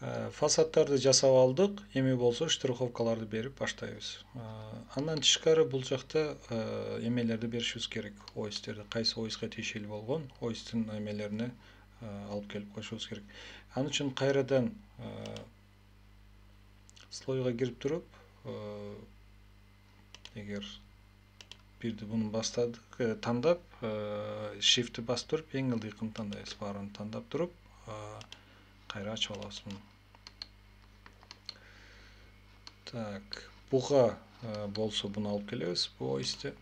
Фасадтарды жасап алдык, эми болсо штриховкаларды берип баштайбыз. Андан тышкары бул жакта эмелерди беришибиз керек. Ойстерди, кайсы ойска тиешелүү болгон ойстун эмелерине алып келип коюшубуз керек. Ал үчүн кайрадан слойго кирип туруп, эгер бирди буну бастадык, тандап, shift'ти басып туруп, эң ылдыйкын тандайбыз. Баарын тандап туруп, кайра ачып алабыз муну. Так, буга болсо буну алып келебиз, бу ойсты.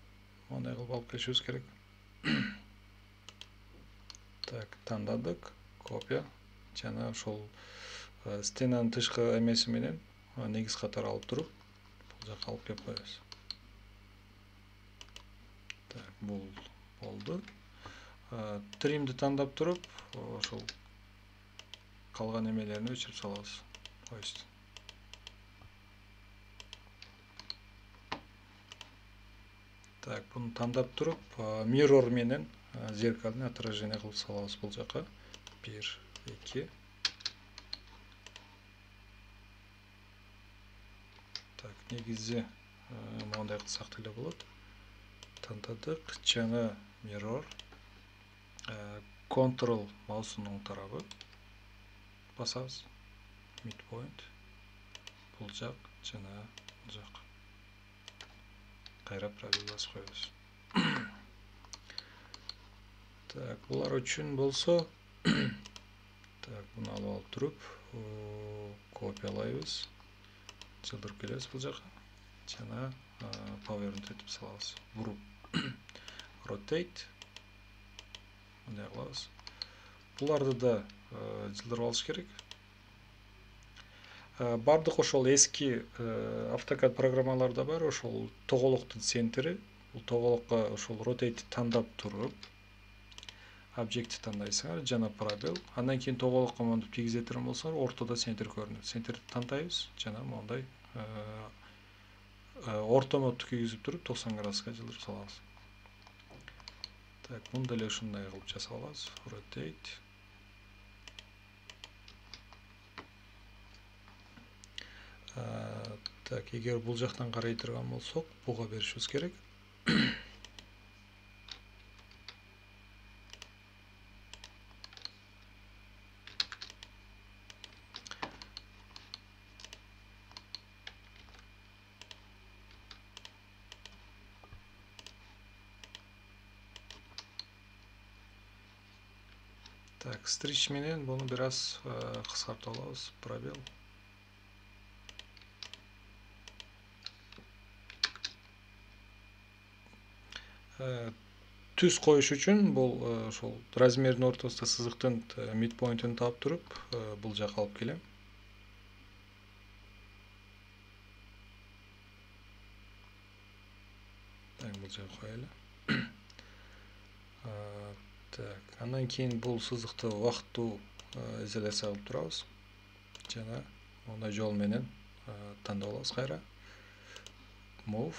Мондай кылып алып келишибиз керек. Так, тандадык, копия. Жана ошол стенанын тышкы эмеси менен негиз катары алып туруп, бул жака алып келип коебуз. Так, бул болду. Тримди тандап туруп, ошол калган эмелерин өчүрүп салабыз. Ойсту. Так, буну тандап туруп, mirror менен зеркальный отражение кылып салабыз бул жака. 1, 2. Так, негизи мондай кылсак деле болот. Тандадык, жана mirror, control маустун оң тарабы басабыз. Midpoint, бул жак жана бул жак. Кайра пробел басып коебуз. Так, булар үчүн болсо, так, буну алып туруп, копиялайбыз. Жылдырып келебиз бул жака. Жана power'ni этип салабыз. Буруп, rotate. Мындай кылабыз. Буларды да жылдырып алыш керек. Бардык ошол эски AutoCAD программаларда бар, ошол тоголоктун центри. Бул тоголокко ошол rotate тандап туруп, объектти тандайсыңар, жана пробел. Андан кийин тоголокко монтип тийгизе турган болсоңор, ортодо центр көрүнөт. Центрди тандайбыз, жана мондай ортомодду кийгизип туруп 90 градуска жылдырып салабыз. Так, муну деле ушундай кылып жасап алабыз. Rotate. Так, эгер бул жактан карай турган болсок, буга беришибиз керек. Так, stretch менен буну бир аз кыскартып алабыз. Пробел. Түз коюш үчүн бул ошол размердин ортосунда сызыктын midpoint'ын таап туруп, бул жака алып келем. Так, бул жака коелу. Так, андан кийин бул сызыкты убактуу изоляция кылып турабыз. Жана мондай жол менен тандап алабыз кайра. Move.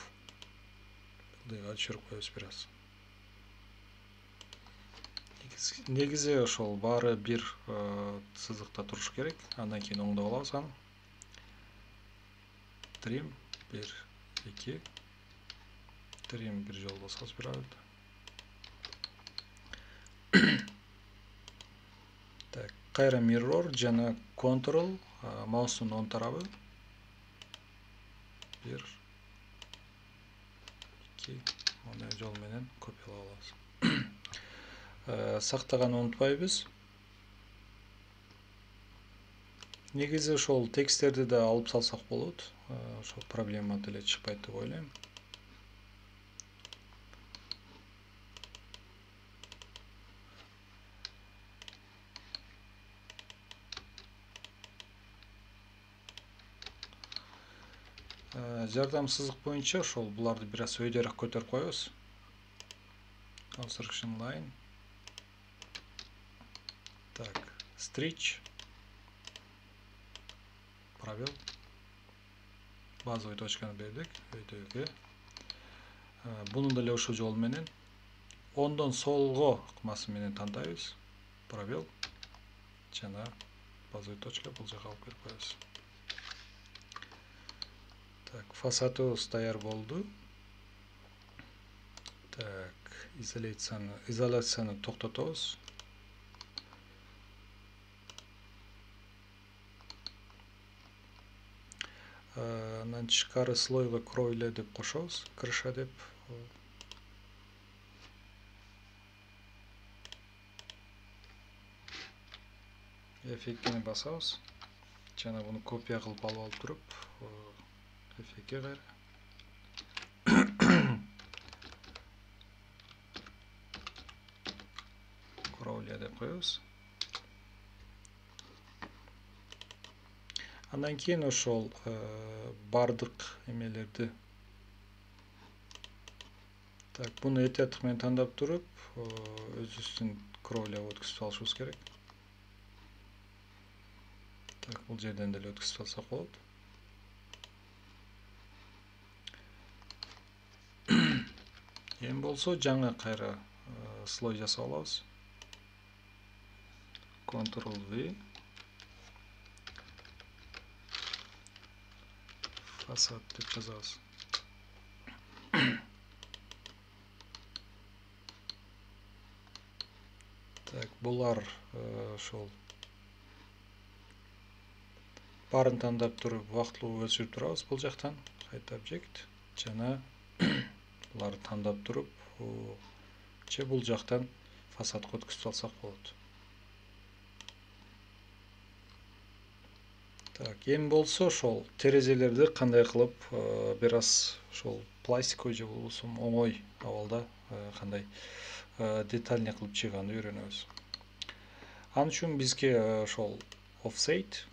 Мындайга түшүрүп коебуз бир аз. Негизи ошол баары бир сызыкта туруш керек. Андан кийин оңдоп алабыз аны. Trim 1, 2. Trim бир жол басабыз бир арада. Так, кайра mirror жана control маустун оң тарабы. 1, 2. Мондай жол менен копиялап алабыз. Сактаганды унутпайбыз. Негизи ошол тексттерди да алып салсак болот. Ошол проблема деле чыкпайт деп ойлойм. Жардам сызык боюнча ошол буларды бир аз өйдөрөөк көтөрүп коебуз. Construction line. Так, stretch. Пробел. Базовый точканы бердик, өйдөгө. Буну деле ошол жол менен оңдон солго ыкмасы менен тандайбыз. Пробел. Жана базовый точка бул жака алып келип коебуз. Так, фасадыбыз даяр болду. Так, изоляцияны токтотобуз. Андан тышкары слойго кровля деп кошобуз, крыша деп. Эффектini басабыз. Жана буну копия кылып алып туруп, эффектке кайра. Кровля деп коебуз. Андан кийин ошол бардык эмелерди. Так, буну этиаттык менен тандап туруп, өзүбүздүн кровляга өткүзүп алышыбыз керек. Так, бул жерден деле өткүзүп алсак болот. Эми болсо жаңы кайра слой жасап алабыз. Ctrl-V. Фасад деп жазабыз. Так, булар ошол барын тандап туруп, убактылуу өчүрүп турабыз бул жактан. Кайта объект жана буларды тандап туруп, же бул жактан фасадка өткүзүп алсак болот. Так, эми болсо ошол терезелерди кандай кылып бир аз ошол пластиковый же болбосо оңой абалда кандай детальный кылып чыгаганды үйрөнөбүз. Ал үчүн бизге ошол offset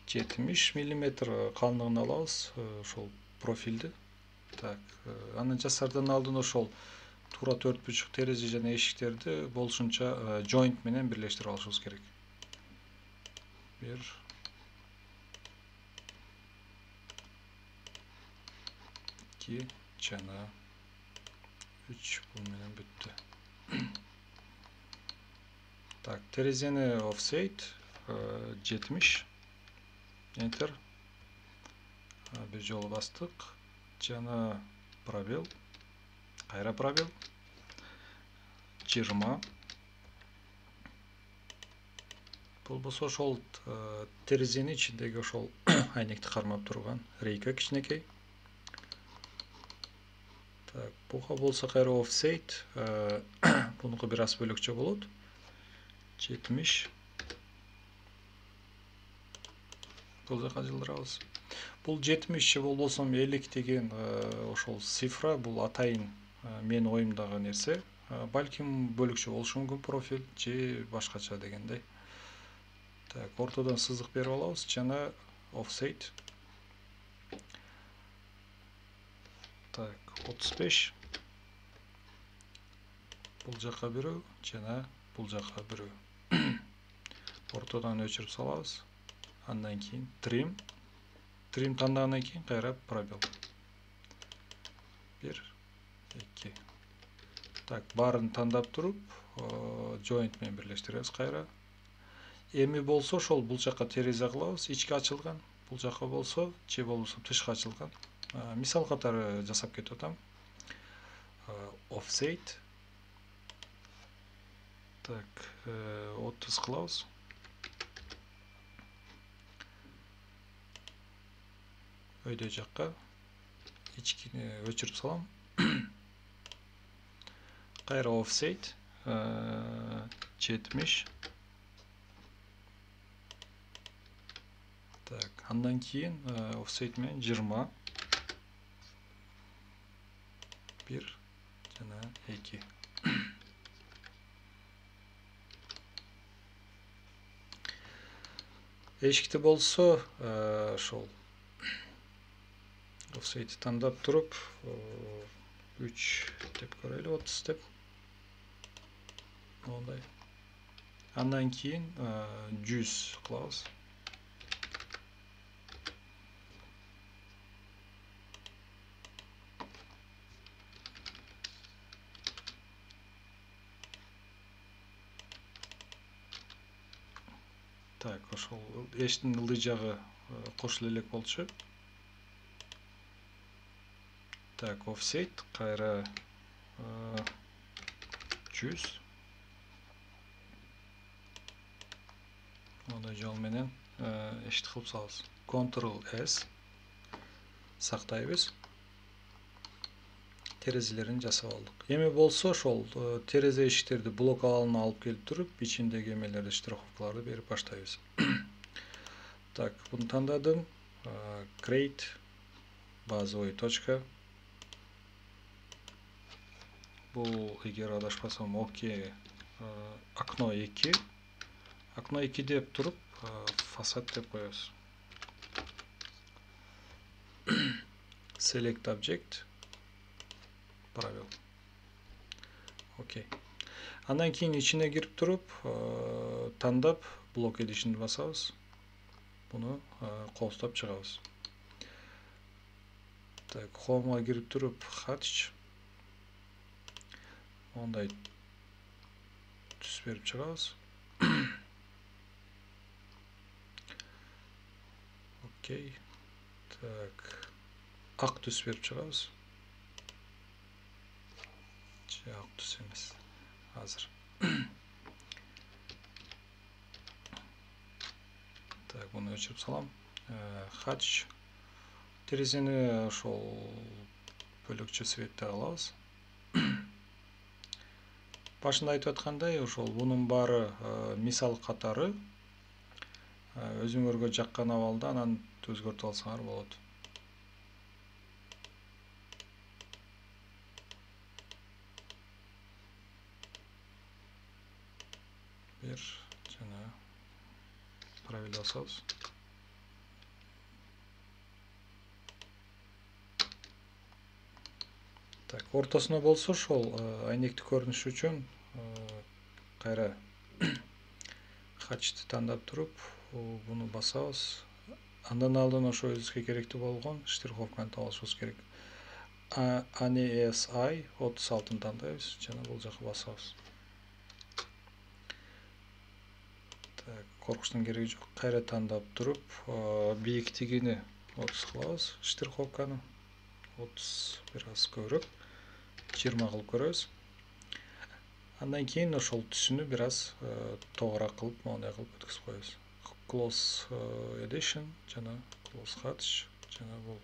70 мм калыңдыгын алабыз, ошол профилди. Так, анын жасардан алдын ошол туура 4,5 терезе жана эшиктерди болушунча joint менен бирлештирип алышыбыз керек. 1 2 жана 3 бул менен бүттү. Так, терезени offset 70. Enter. Bir жолу бастык. Жана пробел. Кайра пробел. 20. Болбосо ошол терезенин ичиндеги ошол айнекти кармап турган рейка кичинекей. Так, буга болсо кайра offset, бунуку бир аз бөлөкчө болот. 70. Бул жака жылдырабыз. Бул 70 же болбосо 50 деген ошол цифра, бул атайын менин оюмдагы нерсе. Балким бөлөкчө болушу мүмкүн профиль же башкача дегендей. Так, ортодон сызык берип алабыз жана offset. Так, 35. Бул жака бирөө жана бул жака бирөө. Ортодон өчүрүп салабыз. Андан кийин trim. Trim тандагандан кийин кайра пробел. 1 2. Так, баарын тандап туруп, joint менен бирлештиребиз кайра. Эми болсо ошол бул жака терезе кылабыз, ички ачылган. Бул жака болсо, же болбосо тышка ачылган. Мисал катары жасап кетип атам. Offset. Так, 30 кылабыз. Өйдө жакка ичкини өчүрүп салам. Кайра offset 70. Так, андан кийин offset менен 20. 1 жана 2. Эшикти болсо ошол offset тандап туруп 3 деп көрөлү, 30 деп. Мондай. Андан кийин 100 кылабыз. Так, ошол эшиктин ылдый жагы кошуло элек болчу. Так, offset кайра 100. Мондай жол менен эшит кылып салабыз. Ctrl S сактайбыз. Терезелерин жасап алдык. Эми болсо ошол терезе эшиктерди блок алына алып келип туруп, ичиндеги эмелерди, штриховкаларды берип баштайбыз. Так, буну тандадым. Create базовый точка. Бул, эгер адашпасам, окей. Окно 2. Окно 2 деп туруп, фасад деп коебуз. Select object. Пробел. Окей. Андан кийин ичине кирип туруп, тандап, блок edish'ни басабыз. Буну колстоп чыгабыз. Так, home'га кирип туруп, hatch. Мондай түс берип чыгабыз. Окей. Так, ак түс берип чыгабыз. Ак түс эмес. Азыр. Так, буну өчүрүп салам. Hatch. Терезени ошол бөлөкчө цветте алабыз. Башында айтып аткандай, ошол бунун баары мисал катары. Өзүңөргө жаккан абалда анан өзгөртүп алсаңар болот. Бир жана пробел басабыз. Так, ортосуна болсо ошол айнекти көрүнүш үчүн кайра hatch'ти тандап туруп, буну басабыз. Андан алдын ошо өзүбүзгө керектүү болгон штриховканы таап алышыбыз керек. ANSI 36-ны тандайбыз жана бул жака басабыз. Так, коркуштун кереги жок. Кайра тандап туруп, бийиктигини 30 кылабыз штриховканы. 30 бир аз көбүрөөк. 20 кылып көрөбүз. Андан кийин ошол түсүнү бир аз тогураак кылып, моундай кылып өткөзүп коебуз. Close edition жана close hatch жана бул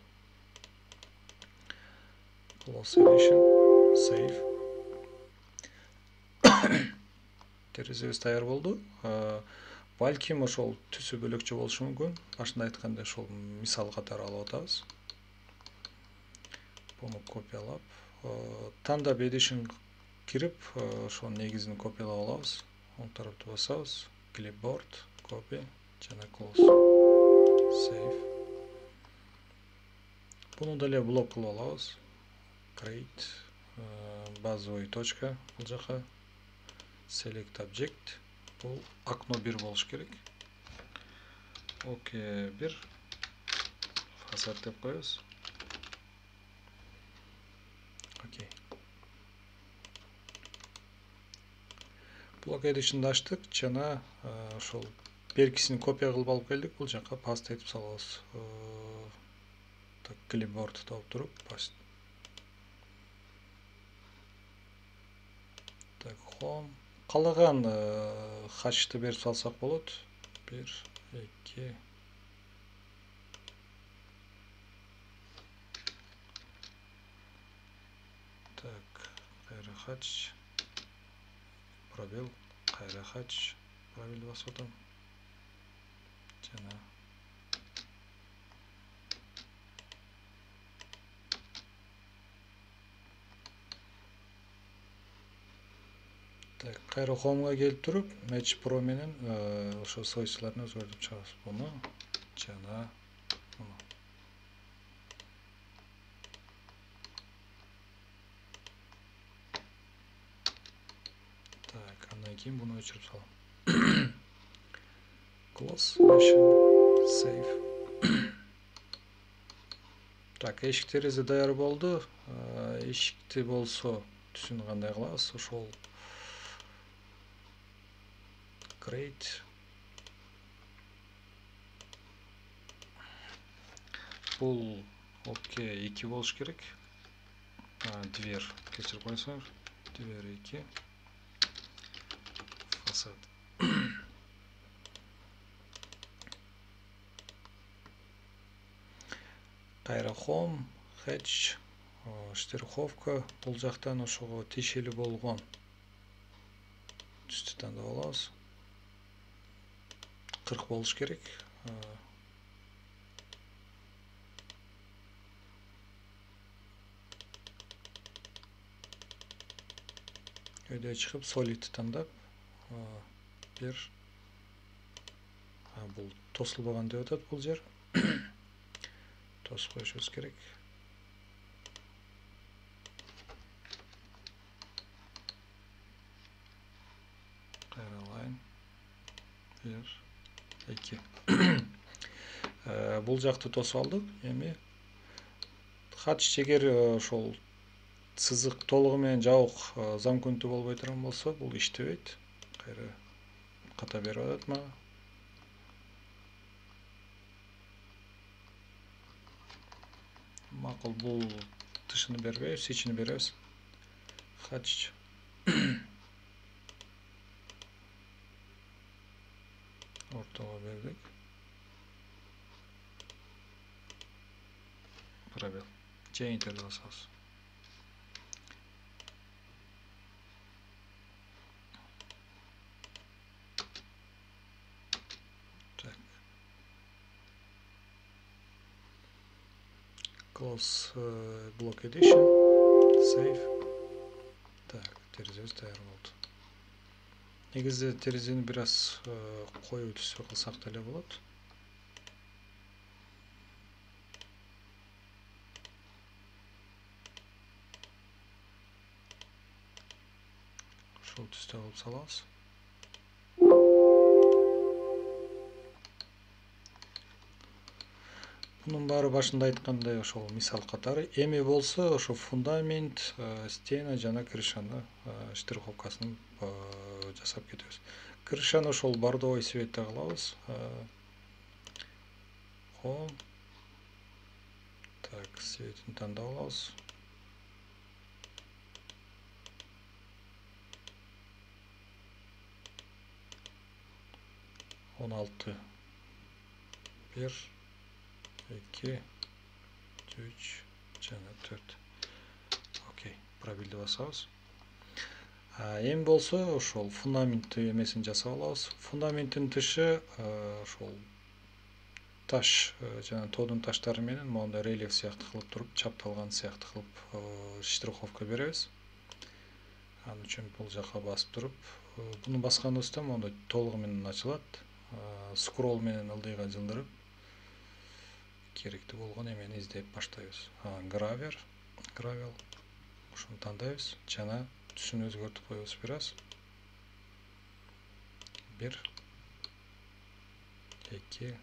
close edition save. Терезебиз даяр болду. Балким ошол түсү бөлөкчө болушу мүмкүн. Башында айткандай ошол мисал катары алып атабыз. Буну копиялап, тандап edition кирип, ошонун негизин копиялап алабыз. Оң тарапты басабыз. Clipboard, copy жана close. Save. Буну деле блок кылып алабыз. Create базовый точка бул жака. Select object. Бул окно 1 болуш керек. Окей, 1. Фасад деп коебуз. Окей. Блок edish'ни ачтык жана ошол беркисин копия кылып алып келдик. Бул жака паст этип салабыз. Так, clipboard тауып туруп, паст. Так, home. Калаган hatch'ты берип салсак болот. 1, 2. Так, кайра hatch. Пробел, кайра hatch. Пробел басып атам. Жана так, кайра home'га келип туруп, Match Pro менен ошо свойстволорун өзгөртүп чыгабыз. Буну жана буну. Так, андан кийин буну өчүрүп салам. Close, save. Так, эшик терезе даяр болду. Эшикти болсо түсүн кандай кылабыз? Ошол create бул окей 2 болуш керек. Дверь кечирип койсоңуз. Дверь 2. Фасад. Кайра home, hatch, штриховка. Бул жактан ошого тиешелүү болгон түстү тандап алабыз. 40 болуш керек. Өйдө чыгып solid тандап, бир бул тосулбаган деп атат бул жер. Тосуп коюшубуз керек. Кайралайын. 1 2. Бул жакты тосуп алдык. Эми hatch эгер ошол сызык толугу менен жабык замкнутый болбой турган болсо, бул иштебейт. Кайра ката берип атат мага. Макул, бул тышыны бербейбиз, ичини беребиз. Hatch. Ортого бердик. Пробел. Же интерди басабыз. Так. Close block edition. Save. Так, терезебиз даяр болду. Негизде терезени бир аз коюу түстө кылсак деле болот. Ошол түстө кылып салабыз. Бунун баары башында айткандай ошол мисал катары. Эми болсо ошо фундамент, стена жана крышаны штриховкасын жасап кетебиз. Крышаны ошол бордовый цветте кылабыз. Home. Так, цветин тандап алабыз. Он 6. 1 2 3 жана 4. Окей, пробелди басабыз. Эми болсо ошол фундамент эмесин жасап алабыз. Фундаменттин тышы ошол таш жана тоодун таштары менен моундай рельеф сыяктуу кылып туруп, чапталган сыяктуу кылып штриховка беребиз. Анын үчүн бул жака басып туруп, буну басканыбызда моундай толугу менен ачылат. Скролл менен ылдыйга жылдырып керектүү болгон эмени издеп баштайбыз. Gravel. Ошону тандайбыз жана түсүн өзгөртүп коебуз бир аз. 1 2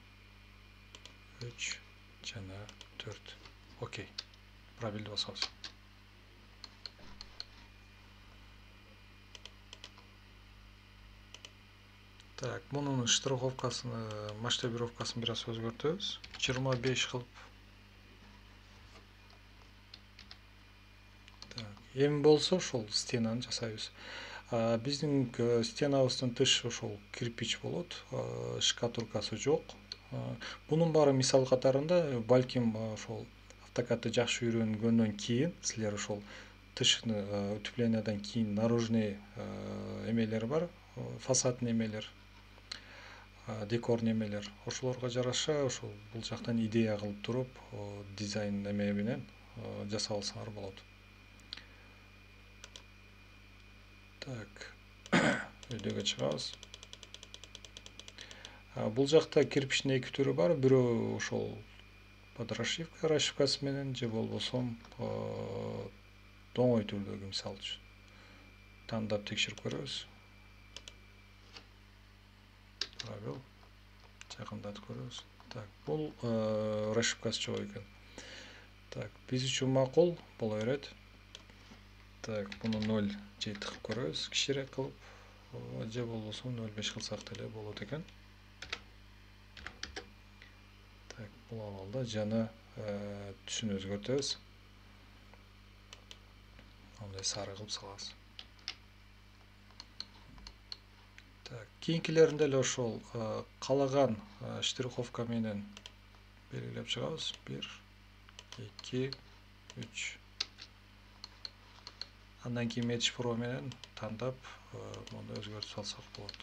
3 жана 4. Окей. Пробелди басабыз. Так, мунун штриховкасын, масштабировкасын бир аз өзгөртөбүз. 25 кылып. Так, эми болсо ошол стенаны жасайбыз. Биздин стенабыздын тышы ошол кирпич болот, шкатулкасы жок. Бунун баары мисал катарында, балким ошол автокадты жакшы үйрөнгөндөн кийин силер ошол тышны утеплениядан кийин наружный эмелер бар, фасадный эмелер, декор немелер, ошолорго жараша ошол бул жактан идея кылып туруп, дизайн эме менен жасап алсаңар болот. Так, өйдөгө чыгабыз. Бул жакта кирпичтин эки түрү бар. Бирөө ошол под расшивкасы менен, же болбосо доңой түрдөгү, мисалы үчүн. Тандап текшерип көрөбүз. Пробел. Жакындатып көрөбүз. Так, бул расшивкасы жок экен. Так, биз үчүн макул боло берет. Так, буну 0 же тыгып көрөбүз, кичирээк кылып, же болбосо 0,5 кылсак деле болот экен. Так, бул абалда жана түсүн өзгөртөбүз. Мындай сары кылып салабыз. Так, кийинкилеринде эле ошол каалаган штриховка менен белгилеп чыгабыз. 1, 2, 3. Андан кийин Match Pro менен тандап муну өзгөртүп салсак болот.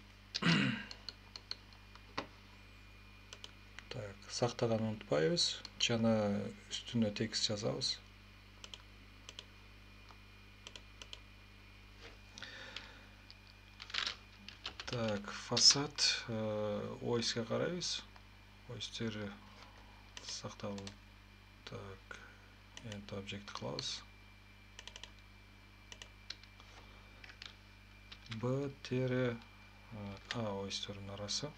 Так, сактаганды унутпайбыз. Жана үстүнө текст жазабыз. Так, фасад ойске карайбыз. Ойстери сакталып. Так, End Object кылабыз. B тире A ойстердин арасы.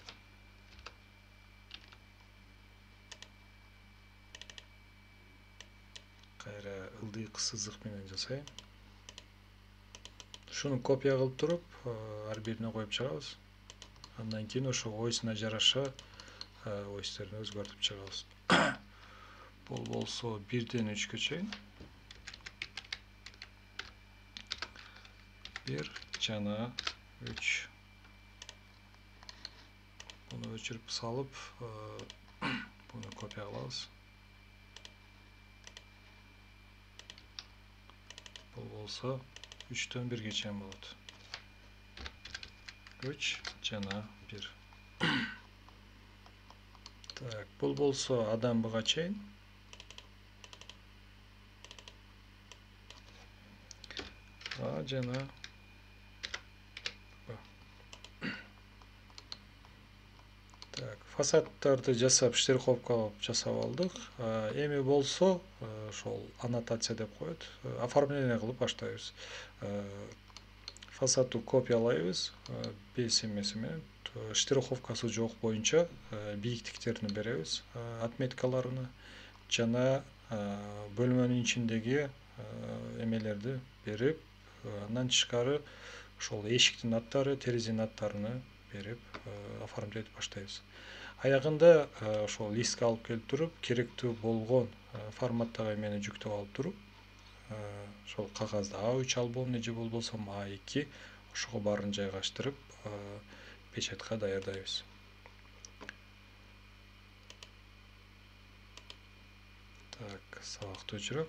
Кайра ылдый сызык менен жасайм. Шуну копия кылып туруп, ар бирине коюп чыгабыз. Андан кийин ошо ойсуна жараша ойстерди өзгөртүп чыгабыз. Бул болсо 1ден 3кө чейин. 1 жана 3. Буну өчүрүп салып, буну копия кылабыз. Бул болсо 3дөн 1ге чейин болот. 3 жана 1. Так, бул болсо Адан Бга чейин. А жана Так, фасадтарды жасап, штриховкалап жасап алдык. Эми болсо, ошол аннотация деп коет. Оформление кылып баштайбыз. Фасадты копиялайбыз, бес эмеси менен, штриховкасы жок боюнча бийиктиктерин беребиз, отметкаларыны жана бөлмөнүн ичиндеги эмелерди берип, андан тышкары ошол эшиктин аттары, терезенин аттарыны берип оформлять баштайбыз. Аягында ошол листке алып келип туруп, керектүү болгон форматтагы эмени жүктөп алып туруп, ошол кагазды A3 альбомный же болбосо A2 ошого баарын жайгаштырып, печатка даярдайбыз. Так, сабакты өчүрөм.